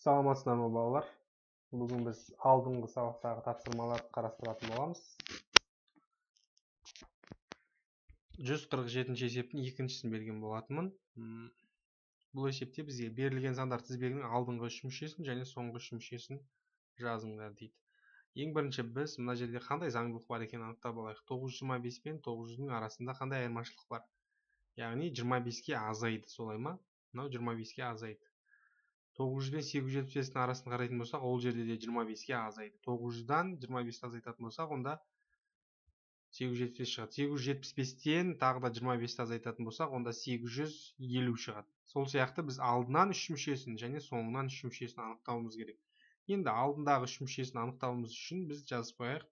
Саламатсыздар ма балалар? Бүгін біз алдыңғы сабақтағы тапсырмаларды қарастыратын боламыз. 147 есептің екіншісін берген болатынмын. Бұл есепте бізге берілген сандар тізбегінің алдыңғы үш мүшесін және соңғы үш мүшесін жазыңдар дейді. Ең бірінші біз мына жерде қандай заңдылық бар екенін анықтап алайық. 925 пен 900-дің арасында қандай айырмашылық бар? Яғни 25-ке азайды, солай ма? Мынау 25-ке азайды. 900 бен 875-дің арасын қарайтын болсақ, ол жерде де 25-ке азайды. 900-дан 25-ті азайтатын болсақ, онда 875 шығады. 875-тен тағы да 25-ті азайтатын болсақ, онда 850 шығады. Сол сияқты біз алдынан үш мүшесін және соңынан үш мүшесін анықтауымыз керек. Енді алдындағы үш мүшесін анықтауымыз үшін біз жазып қояйық.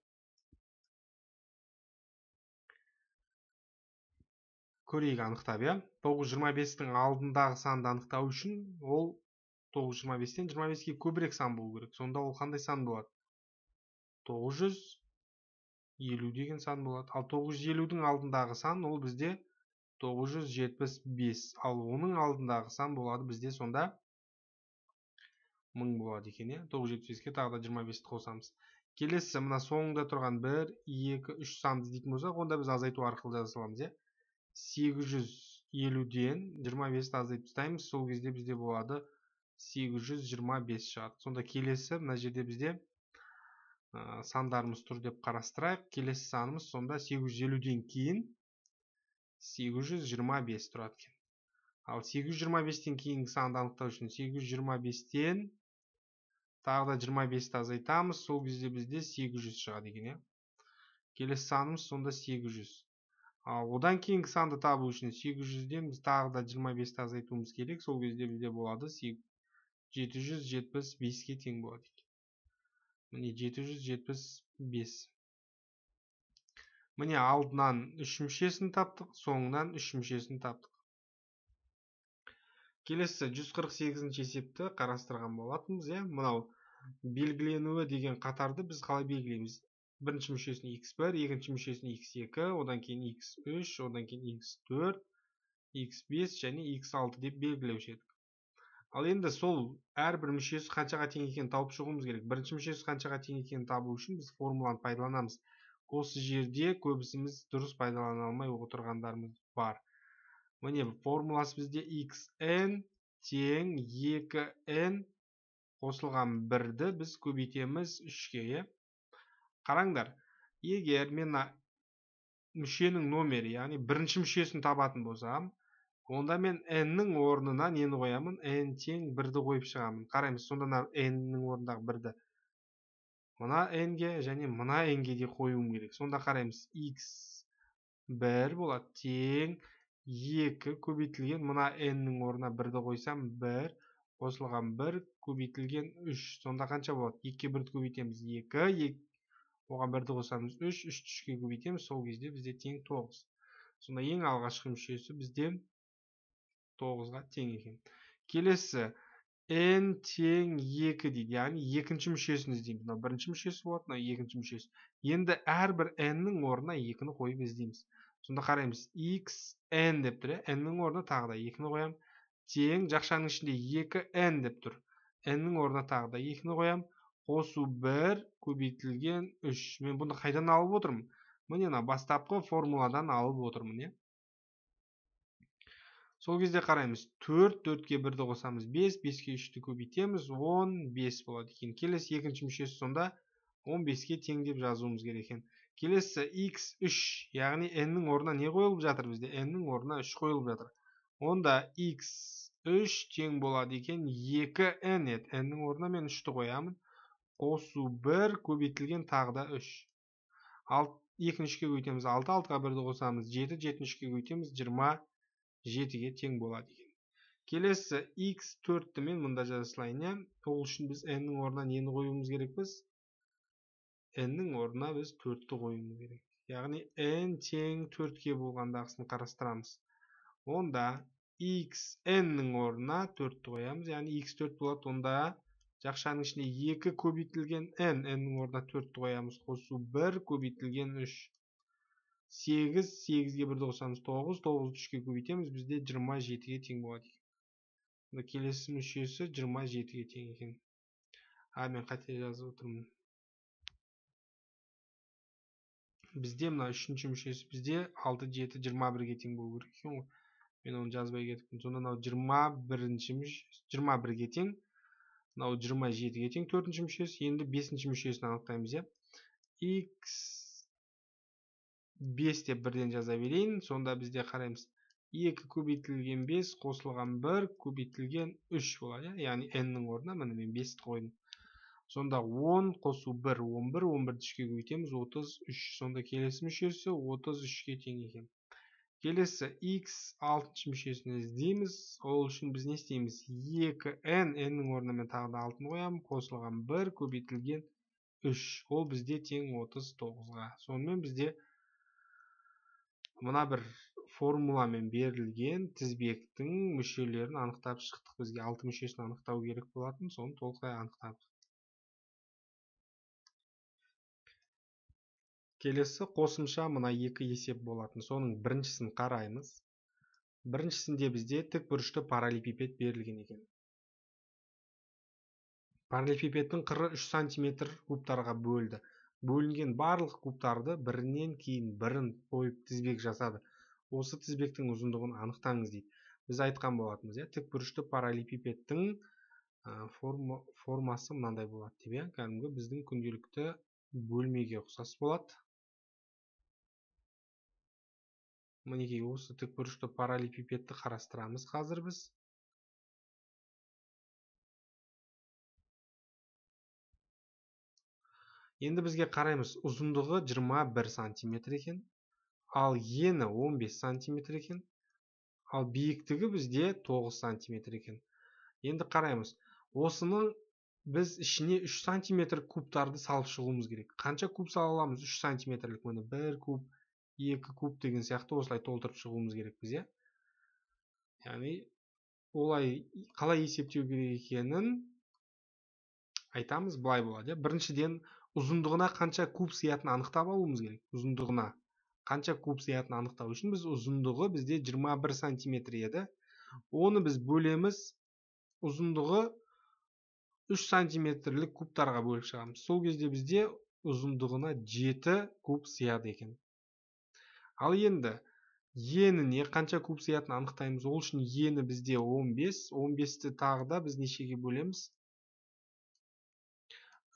Көрейік анықтап, иә. 925-тің алдындағы санды анықтау үшін ол 925-тен 25-ке көбірек сан болу керек. Сонда ол қандай сан болады? 950 деген сан болады. Ал 950-дің алдындағы сан ол бізде 975. Ал оның алдындағы сан болады бізде сонда 1000 болады екен. 975-ке тағы да 25-ті қосамыз. Келесі мына соңында тұрған 1, 2, 3 санды іздейтін болсақ, онда біз азайту арқылы жаза аламыз. 850-ден 25-ті азайтып тастаймыз. Сол кезде бізде болады 825 шығады. Сонда келесі мына жерде бізде сандарымыз тұр деп қарастырайық. Келесі санымыз сонда 850-ден кейін 825 тұрады екен. Ал 825-тен кейінгі санды анықтау үшін 825-тен тағы да 25-ті азайтамыз. Сол кезде бізде 800 шығады екен. Келесі санымыз сонда 800. Ал одан кейінгі санды табу үшін 800-ден біз тағы да 25-ті азайтуымыз керек. Сол кезде бізде болады 775-ке тең болады. Міне 775. Міне алдынан үш мүшесін таптық, соңынан үш мүшесін таптық. Келесі 148-ші есепті қарастырған болатынбыз. Мынау белгіленуі деген қатарды біз қалай белгілейміз? Бірінші мүшесін x1, екінші мүшесін x2, одан кейін x3, одан кейін x4, x5 және x6 деп белгілеуші едік. Ал енді сол әрбір мүшесі қаншаға тең екенін тауып шығуымыз керек. Бірінші мүшесі қаншаға тең екенін табу үшін біз формуланы пайдаланамыз. Осы жерде көбісіміз дұрыс пайдалана алмай отырғандарымыз бар. Міне формуласы бізде xn тең 2n қосылған 1-ді біз көбейтеміз 3-ке. Қараңдар, егер мен мүшенің номері, яғни бірінші мүшесін табатын болсам, онда мен n-нің орнына нені қоямын? n тең 1-ді қойып шығамын. Қараймыз, сонда n-нің орнындағы 1-ді мына n-ге және мына n-ге де қоюым керек. Сонда қараймыз, x1 болады тең 2 көбейтілген мына n-нің орнына 1-ді қойсам 1 қосылған 1 көбейтілген 3. Сонда қанша болады? 2-ке 1-ді көбейтеміз 2, оған 1-ді қосамыз 3, 3-ті 3-ке көбейтеміз, сол кезде бізде тең 9. Сонда ең алғашқы мүшесі бізде 9-ға тең екен. Келесі n тең 2 дейді, яғни екінші мүшесін іздейміз. Мынау бірінші мүшесі болады, мынау екінші мүшесі. Енді әрбір n-нің орнына 2-ні қойып іздейміз. Сонда қараймыз, xn деп тұр, n-нің орнына тағы да 2-ні қоям. Тең жақшаның ішінде 2n деп тұр. n-нің орнына тағы да 2-ні қоям. Қосу 1 көбейтілген 3. Мен бұны қайдан алып отырмын? Міне бастапқы формуладан алып отырмын. Сол кезде қараймыз, 4, 4-ке 1-ді қосамыз 5, 5-ке 3-ті көбейтеміз, 15 болады екен. Келесі екінші мүшесі сонда 15-ке тең деп жазуымыз керек екен. Келесі x3, яғни n-нің орнына не қойылып жатыр бізде? n-нің орнына 3 қойылып жатыр. Онда x3 тең болады екен 2n еді. n-нің орнына мен 3-ті қоямын. Қосу 1 көбейтілген тағы да 3. 2-ні 3-ке көбейтеміз 6, 6-ға 1-ді қосамыз 7, 7-ні 3-ке көбейтеміз 27-ге тең болады екен. Келесі x4-ті мен мұнда жазылайын. Ол үшін біз n-нің орнына нені қоюымыз керекпіз? n-нің орнына біз 4-ті қоюымыз керек. Яғни n тең 4-ке болғандағысын қарастырамыз. Онда xn-нің орнына 4-ті қоямыз. Яғни x4 болады. Онда жақшаның ішінде 2 көбейтілген n-нің орнына 4-ті қоямыз. Қосу 1 көбейтілген 3. 8, 8-ге 1-ді қосамыз 9, 9-ды 3-ке көбейтеміз, бізде 27-ге тең болады. келесі мүшесі 27-ге тең екен. Мен қате жазып отырмын. Бізде мына үшінші мүшесі бізде 6, 7, 21-ге тең болу керек екен ғой. Мен оны жазбай кетіппін. Сонда мынау 21-ге тең. Мынау 27-ге тең төртінші мүшесі. Енді бесінші мүшесін анықтаймыз, иә. X 5 деп бірден жаза берейін. Сонда бізде қараймыз. 2 көбейтілген 5 қосылған 1 көбейтілген 3 болады. Яғни n-нің орнына міне мен 5-ті қойдым. Сонда 10 қосу 1, 11, 11-ді 3-ке көбейтеміз, 33. Сонда келесі мүшесі 33-ге тең екен. Келесі x 6-шы мүшесін іздейміз. Ол үшін біз не істейміз? 2n, n-нің орнына мен тағы да 6-ны қоямын, қосылған 1 көбейтілген 3. Ол бізде тең 39-ға. Сонымен бізде мына бір формуламен берілген тізбектің мүшелерін анықтап шықтық. Бізге 6 мүшесін анықтау керек болатын, соны толықтай анықтадық. Келесі қосымша мына екі есеп болатын. Соның біріншісін қараймыз. Біріншісінде бізде тікбұрышты параллелепипед берілген екен. Параллелепипедтің қыры 3 см кубтарға бөлді. Бөлінген барлық кубтарды бірінен кейін бірін қойып тізбек жасады. Осы тізбектің ұзындығын анықтаңыз дейді. Біз айтқан болатынбыз, иә, тікбұрышты параллелепипедтің формасы мынандай болады деп, иә, кәдімгі біздің күнделікті бөлмеге ұқсас болады. Мінекей осы тікбұрышты параллелепипедті қарастырамыз қазір біз. Енді бізге қараймыз, ұзындығы 21 см екен, ал ені 15 см екен, ал биіктігі бізде 9 см екен. Енді қараймыз, осының біз ішіне 3 см кубтарды салып шығуымыз керек. Қанша куб сала аламыз? 3 см-лік, міне 1 куб, 2 куб деген сияқты осылай толтырып шығуымыз керек біз, иә. Яғни олай қалай есептеу керек екенін айтамыз, былай болады, иә. Біріншіден ұзындығына қанша куб сиятын анықтап алуымыз керек. Ұзындығына қанша куб сиятын анықтау үшін біз ұзындығы бізде 21 см еді. Оны біз бөлеміз, ұзындығы 3 см-лік кубтарға бөліп шығамыз. Сол кезде бізде ұзындығына 7 куб сияды екен. Ал енді еніне қанша куб сиятын анықтаймыз. Ол үшін ені бізде 15. 15-ті тағы да біз нешеге бөлеміз?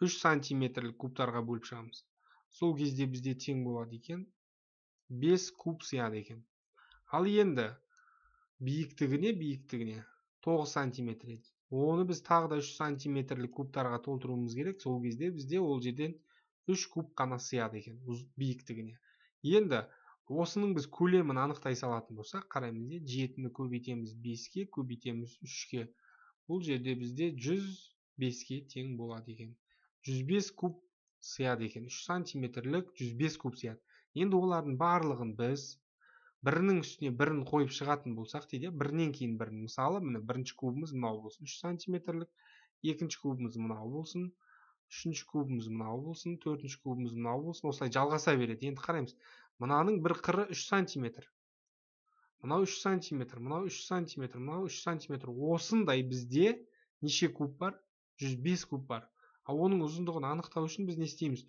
3 см-лік кубтарға бөліп шығамыз. Сол кезде бізде тең болады екен 5 куб сияды екен. Ал енді биіктігіне 9 см еді. Оны біз тағы да 3 см-лік кубтарға толтыруымыз керек. Сол кезде бізде ол жерден 3 куб қана сияды екен биіктігіне. Енді осының біз көлемін анықтай салатын болсақ, қараймыз, 7-ні көбейтеміз 5-ке, көбейтеміз 3-ке. Бұл жерде бізде 105-ке тең болады екен. 105 куб сияды екен. 3 см-лік 105 куб сияды. Енді олардың барлығын біз бірінің үстіне бірін қойып шығатын болсақ дейді, бірінен кейін бірін. Мысалы, міне бірінші кубымыз мынау болсын, 3 см-лік, екінші кубымыз мынау болсын, үшінші кубымыз мынау болсын, төртінші кубымыз мынау болсын, осылай жалғаса береді. Енді қараймыз, мынаның бір қыры 3 см. Мынау 3 см, мынау 3 см, мынау 3 см. Осындай бізде неше куб бар? 105 куб бар. Ал оның ұзындығын анықтау үшін біз не істейміз?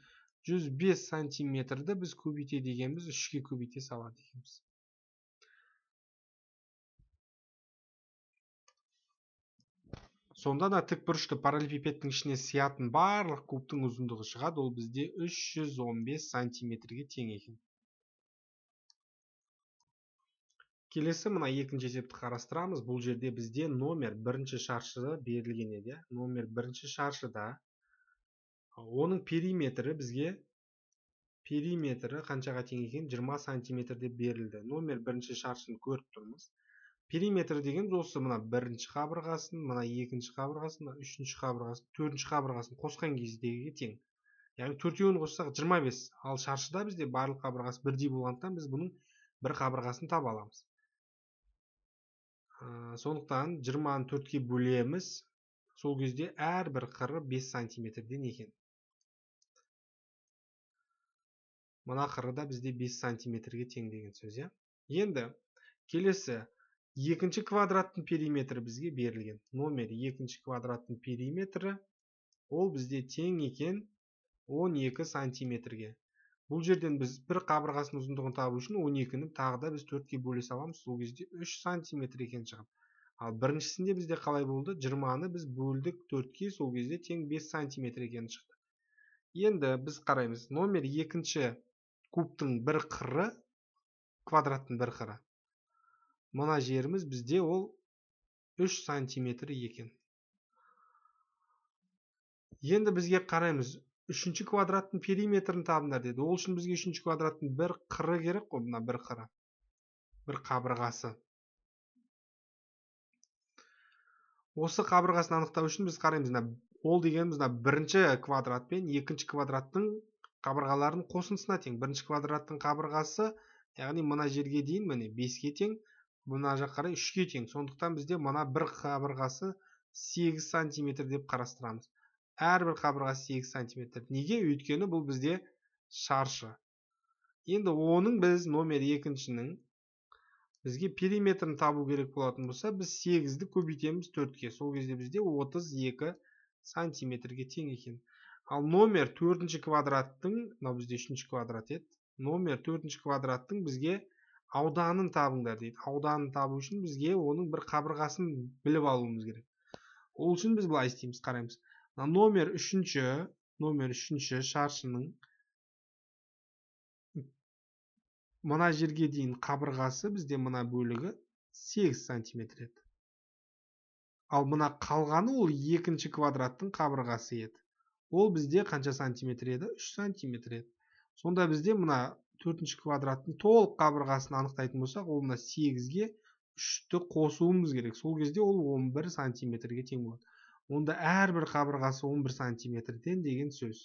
105 см-ді біз көбейте дегенбіз, 3-ке көбейте салады екенбіз. Сонда да тікбұрышты параллелепипедтің ішіне сиятын барлық кубтың ұзындығы шығады. Ол бізде 315 см-ге тең екен. Келесі мына екінші есепті қарастырамыз. Бұл жерде бізде номер бірінші шаршыда берілген еді. Номер бірінші шаршыда оның периметрі бізге қаншаға тең екен? 20 см деп берілді. Номер бірінші шаршыны көріп тұрмыз. Периметр деген осы мына бірінші қабырғасын, мына екінші қабырғасын, мына үшінші қабырғасын, төртінші қабырғасын қосқан кездегі тең. Яғни төртеуін қоссақ 25. Ал шаршыда бізде барлық қабырғасы бірдей болғандықтан біз бұның бір қабырғасын таба аламыз. Сондықтан 20-ны 4-ке бөлеміз. Сол кезде әрбір қыры 5 см-ден екен. Мына қыры да бізде 5 см-ге тең деген сөз, иә. Енді келесі екінші квадраттың периметрі бізге берілген. Номер екінші квадраттың периметрі ол бізде тең екен 12 сантиметрге. Бұл жерден біз бір қабырғасының ұзындығын табу үшін 12-ні тағы да біз 4-ке бөле саламыз. Сол кезде 3 сантиметр екен шығады. Ал біріншісінде бізде қалай болды? 20-ны біз бөлдік 4-ке, сол кезде тең 5 сантиметр екен шықты. Енді біз қараймыз. Номер екінші кубтың бір қыры, квадраттың бір қыры. Мына жеріміз бізде ол 3 сантиметр екен. Енді бізге қараймыз. Үшінші квадраттың периметрін табыңдар деді. Ол үшін бізге үшінші квадраттың бір қыры керек қой, мына бір қыры. Бір қабырғасы. Осы қабырғасын анықтау үшін біз қараймыз. Ол дегеніміз бірінші квадрат пен екінші квадраттың қабырғаларын қосындысына тең. Бірінші квадраттың қабырғасы, яғни мына жерге дейін міне 5-ке тең, мына жаққа қарай 3-ке тең. Сондықтан бізде мына бір қабырғасы 8 сантиметр деп қарастырамыз. Әрбір қабырғасы 8 сантиметр. Неге? Өйткені бұл бізде шаршы. Енді оның біз номер екіншінің бізге периметрін табу керек болатын болса, біз 8-ді көбейтеміз 4-ке. Сол кезде бізде 32 сантиметрге тең екен. Ал номер 4-ші квадраттың, мынау бізде 3-ші квадрат еді. Номер 4-ші квадраттың бізге ауданын табыңдар дейді. Ауданын табу үшін бізге оның бір қабырғасын біліп алуымыз керек. Ол үшін біз былай істейміз, қараймыз. Номер 3-ші шаршының мына жерге дейін қабырғасы бізде мына бөлігі 8 сантиметр еді. Ал мына қалғаны ол екінші квадраттың қабырғасы еді. Ол бізде қанша сантиметр еді? 3 сантиметр еді. Сонда бізде мына 4-ші квадраттың толық қабырғасын анықтайтын болсақ, ол мына 8-ге 3-ті қосуымыз керек. Сол кезде ол 11 сантиметрге тең болады. Онда әрбір қабырғасы 11 сантиметрден деген сөз.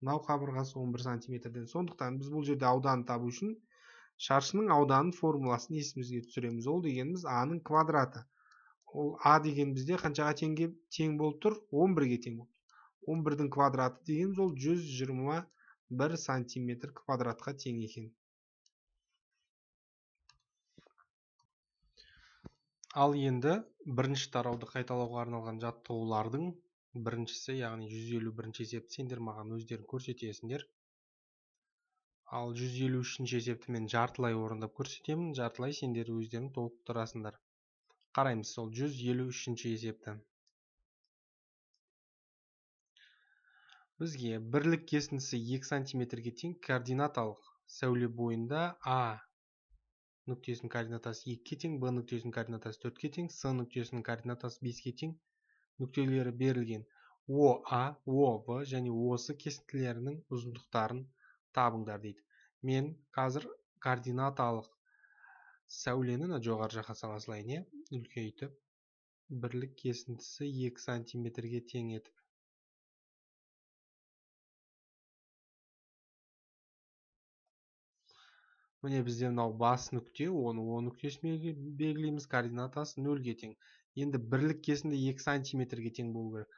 Мынау қабырғасы 11 сантиметрден. Сондықтан біз бұл жерде ауданын табу үшін шаршының ауданын формуласын есімізге түсіреміз. Ол дегеніміз А-ның квадраты. Ол А деген бізде қаншаға тең болып тұр? 11-ге тең болып тұр. 11-дің квадраты дегеніміз ол 121 сантиметр квадратқа тең екен. Ал енді бірінші тарауды қайталауға арналған жаттығулардың біріншісі, яғни 151-ші есепті сендер маған өздерің көрсетесіңдер. Ал 153-ші есепті мен жартылай орындап көрсетемін. Жартылай сендер өздерің толықтырасыңдар. Қараймыз сол 153-ші есепті. Бізге бірлік кесіндісі 2 сантиметрге тең координаталық сәуле бойында А нүктесінің координатасы 2-ке тең, Б нүктесінің координатасы 4-ке тең, С нүктесінің координатасы 5-ке тең нүктелері берілген ОА, ОВ және осы кесінділерінің ұзындықтарын табыңдар дейді. Мен қазір координаталық сәулені жоғары жаққа сала салайын, үлкейтіп, бірлік кесіндісі 2 сантиметрге тең етіп. Міне бізде мынау бас нүкте, оны О нүктесіне белгілейміз, координатасы 0-ге тең. Енді бірлік кесінді 2 сантиметрге тең болу керек.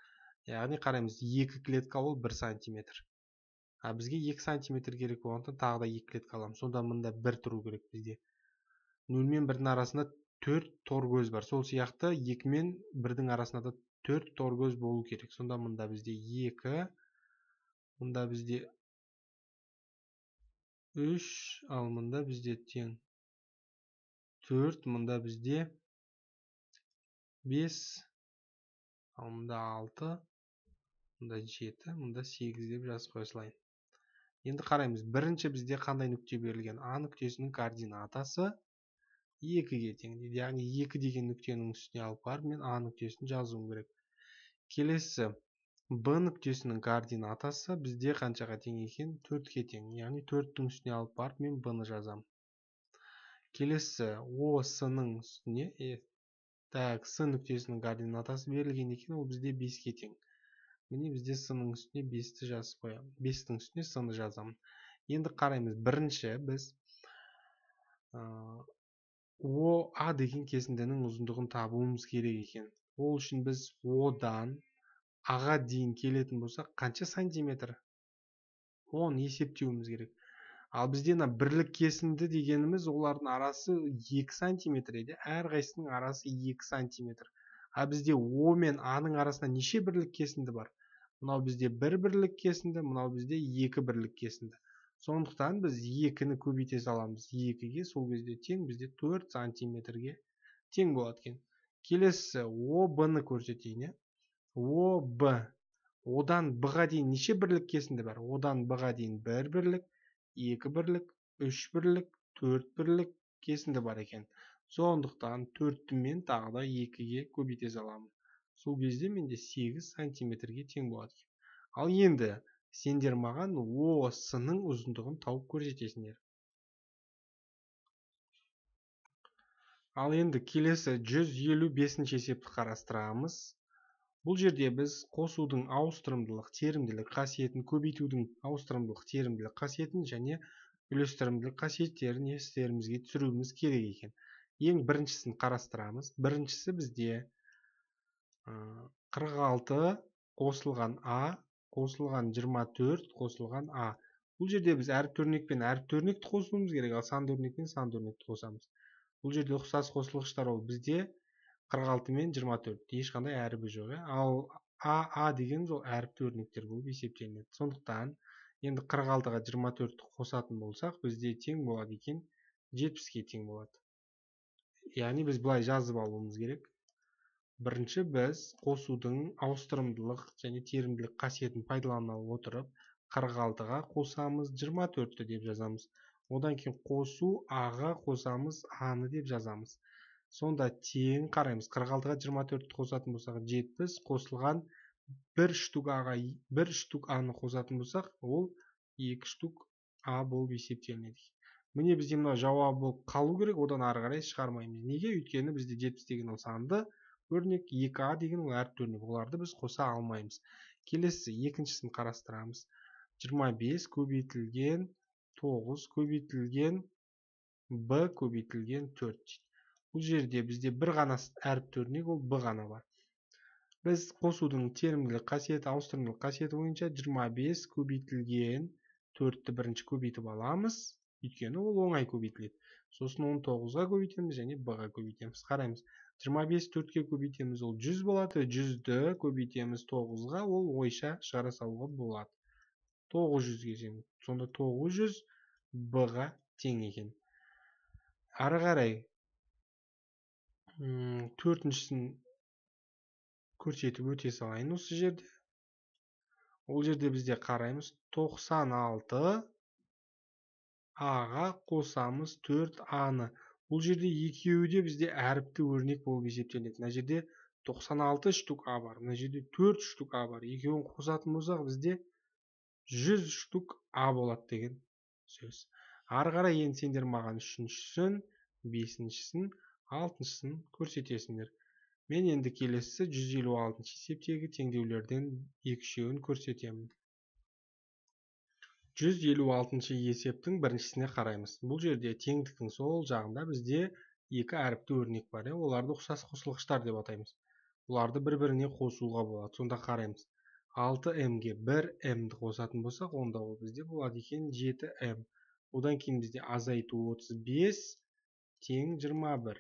Яғни қараймыз, 2 клетка ол 1 сантиметр. Бізге 2 сантиметр керек болғандықтан тағы да 2 клетка аламыз. Сонда мында 1 тұру керек бізде. 0 мен 1-дің арасында 4 торкөз бар. Сол сияқты 2 мен 1-дің арасында да 4 торкөз болу керек. Сонда мында бізде 2, мында бізде 3, ал мында бізде тең 4, мында бізде 5, ал мында 6, мында 7, мында 8 деп жазып қоя салайын. Енді қараймыз, бірінші бізде қандай нүкте берілген? А нүктесінің координатасы 2-ге тең. Яғни 2 деген нүктенің үстіне алып барып, мен А нүктесін жазуым керек. Келесі, Б нүктесінің координатасы бізде қаншаға тең екен? 4-ке тең. Яғни 4-тің үстіне алып барып, мен Б-ны жазам. Келесі, С-ның үстіне, С нүктесінің координатасы берілген екен, ол бізде 5-ке тең. Міне бізде С-ның үстіне 5-ті жазып қоямын. 5-тің үстіне С-ны жазамын. Енді қараймыз, бірінші біз ОА деген кесіндінің ұзындығын табуымыз керек екен. Ол үшін біз Одан Аға дейін келетін болсақ, қанша сантиметр? 10 есептеуіміз керек. Ал бізде мына бірлік кесінді дегеніміз олардың арасы 2 сантиметр еді. Әрқайсысының арасы 2 сантиметр. А бізде О мен А-ның арасында неше бірлік кесінді бар? Мынау бізде 1 бірлік кесінді, мынау бізде 2 бірлік кесінді. Сондықтан біз 2-ні көбейте саламыз 2-ге, сол кезде тең бізде 4 сантиметрге тең болады екен. Келесі ОБ-ны көрсетейін. ОБ. Одан Б-ға дейін неше бірлік кесінді бар? Одан Б-ға дейін 1 бірлік, 2 бірлік, 3 бірлік, 4 бірлік кесінді бар екен. Сондықтан 4-ті мен тағы да 2-ге көбейте саламын. Сол кезде менде 8 сантиметрге тең болады. Ал енді сендер маған ОС-ның ұзындығын тауып көрсетесіңдер. Ал енді келесі 155-ші есепті қарастырамыз. Бұл жерде біз қосудың ауыстырымдылық, терімділік қасиетін, көбейтудің ауыстырымдылық, терімділік қасиетін және үлестірімділік қасиеттерін естерімізге түсіруіміз керек екен. Ең біріншісін қарастырамыз. Біріншісі бізде 46 қосылған А, қосылған 24 қосылған А. Бұл жерде біз әріпті өрнекпен әріпті өрнекті қосуымыз керек, ал санды өрнекпен санды өрнекті қосамыз. Бұл жерде ұқсас қосылғыштар ол бізде 46 мен 24. Ешқандай әрібі жоқ. Ал А деген ол әріпті өрнектер болып есептелінеді. Сондықтан енді 46-ға 24-ті қосатын болсақ, бізде тең болады екен 70-ге тең болады. Яғни біз былай жазып алуымыз керек. Бірінші біз қосудың ауыстырымдылық және терімділік қасиетін пайдалана отырып 46-ға қосамыз 24-ті деп жазамыз. Одан кейін қосу А-ға қосамыз А-ны деп жазамыз. Сонда тең қараймыз. 46-ға 24-ті қосатын болсақ 70, қосылған 1 штук А-ға 1 штук А-ны қосатын болсақ, ол 2 штук А болып есептелінеді. Міне бізде мына жауабы болып қалу керек, одан ары қарай шығармаймыз. Неге? Өйткені бізде 70 деген ол санды өрнек, 2А деген ол әріпті өрнек. Оларды біз қоса алмаймыз. Келесі екіншісін қарастырамыз. 25 көбейтілген 9 көбейтілген Б көбейтілген 4. Бұл жерде бізде бір ғана әріпті өрнек, ол Б ғана бар. Біз қосудың терімділік қасиеті, ауыстырымдылық қасиеті бойынша 25 көбейтілген 4-ті бірінші көбейтіп аламыз, өйткені ол оңай көбейтіледі. Сосын 19-ға көбейтеміз және Б-ға көбейтеміз. Қараймыз. 25 4-ке көбейтеміз, ол 100 болады. 100-ді көбейтеміз 9-ға, ол ойша шығара салуға болады. 900-ге тең. Сонда 900 Б-ға тең екен. Ары қарай төртіншісін көрсетіп өте салайын осы жерде. Ол жерде бізде қараймыз 96 А-ға қосамыз 4 А-ны. Бұл жерде екеуі де бізде әріпті өрнек болып есептеледі. Мына жерде 96 штук А бар. Мына жерде 4 штук А бар. Екеуін қосатын болсақ бізде 100 штук А болады деген сөз. Ары қарай енді сендер маған үшіншісін, бесіншісін, алтыншысын көрсетесіңдер. Мен енді келесі 156 есептегі теңдеулерден екіншеуін көрсетемін. 156 есептің біріншісіне қараймыз. Бұл жерде теңдіктің сол жағында бізде екі әріпті өрнек бар. Оларды ұқсас қосылғыштар деп атаймыз. Оларды бір-біріне қосуға болады. Сонда қараймыз. 6М-ге 1М-ді қосатын болсақ, онда ол бізде болады екен 7М. Одан кейін бізде азайту 35 тең 21.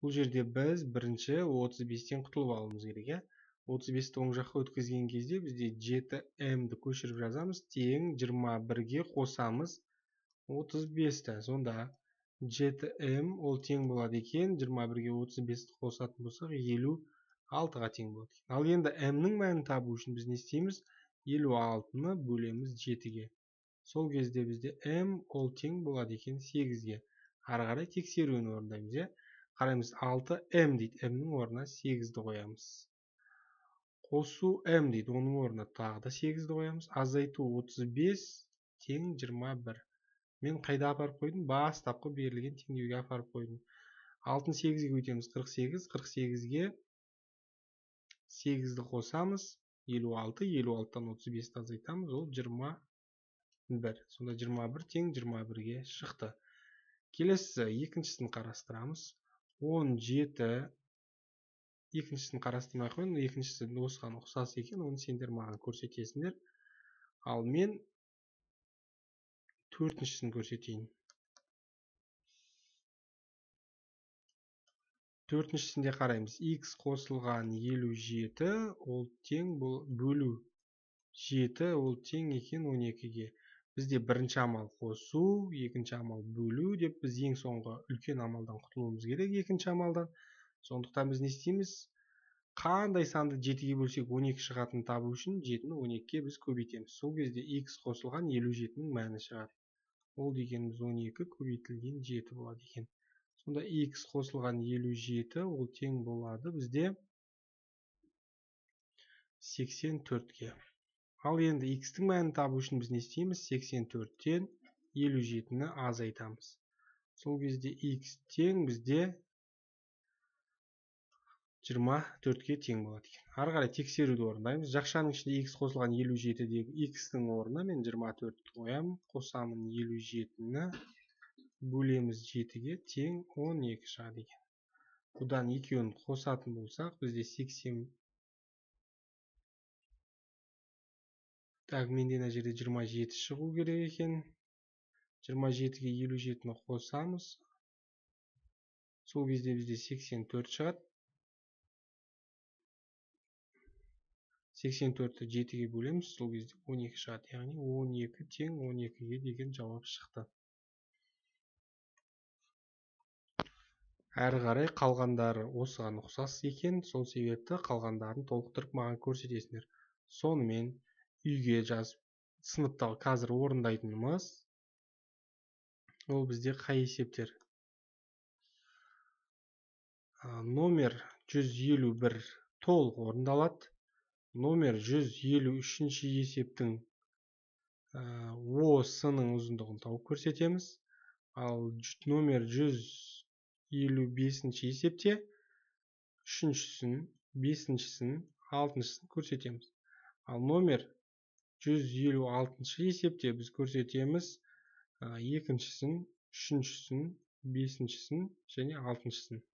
Бұл жерде біз бірінші 35-тен құтылып алуымыз керек. 35-ті оң жаққа өткізген кезде бізде 7М-ді көшіріп жазамыз. Тең 21-ге қосамыз 35-ті. Сонда 7М ол тең болады екен. 21-ге 35-ті қосатын болсақ 56-ға тең болады. Ал енді М-нің мәнін табу үшін біз не істейміз? 56-ны бөлеміз 7-ге. Сол кезде бізде М ол тең болады екен 8-ге. Ары қарай тексеруін орындаймыз. Қараймыз, 6М дейді. М-нің орнына 8-ді қоямыз. Қосу М дейді. Оның орнына тағы да 8-ді қоямыз. Азайту 35 тең 21. Мен қайда апарып қойдым? Бастапқы берілген теңдеуге апарып қойдым. 6-ны 8-ге өтеміз 48. 48-ге 8-ді қосамыз. 56. 56-тан 35-ті азайтамыз. Ол 21. Сонда 21 тең 21-ге шықты. Келесі екіншісін қарастырамыз. 17. Екіншісін қарастырмай қойын. Екіншісі осыған ұқсас екен. Оны сендер маған көрсетесіңдер. Ал мен төртіншісін көрсетейін. Төртіншісінде қараймыз. X қосылған 57 ол тең бөлу 7 ол тең екен 12-ге. Бізде бірінші амал қосу, екінші амал бөлу деп біз ең соңғы үлкен амалдан құтылуымыз керек екінші амалдан. Сондықтан біз не істейміз? Қандай санды 7-ге бөлсек 12 шығатынын табу үшін 7-ні 12-ге біз көбейтеміз. Сол кезде x қосылған 57-нің мәні шығады. Ол дегеніміз 12 көбейтілген 7 болады екен. Сонда x қосылған 57 ол тең болады бізде 84-ге. Ал енді x-тің мәнін табу үшін біз не істейміз? 84-тен 57-ні азайтамыз. Сол кезде x тең бізде 24-ге тең болады екен. Ары қарай тексеруді орындаймыз. Жақшаның ішінде x қосылған 57-дегі x-тің орнына мен 24-ті қоямын. Қосамын 57-ні бөлеміз 7-ге тең 12 шығады екен. Бұдан екеуін қосатын болсақ, бізде 80. Так, менде мына жерде 27 шығу керек екен. 27-ге 57-ні қосамыз. Сол кезде бізде 84 шығады. 84-ті 7-ге бөлеміз, сол кезде 12 шығады. Яғни 12 тең 12-ге деген жауап шықты. Әрі қарай қалғандары осыған ұқсас екен, сол себепті қалғандарын толықтырып маған көрсетесіңдер. Сонымен үйге жазып, сыныптағы қазір орындайтынымыз, ол бізде қай есептер? Номер 151 толық орындалады. Номер 153 есептің ОС-ның ұзындығын тауып көрсетеміз. Ал номер 155 есепте 3-шісін, 5-шісін, 6-шісін көрсетеміз. Ал номер 156 есепте біз көрсетеміз 2-шісін, 3-шісін, 5-шісін және 6-шісін.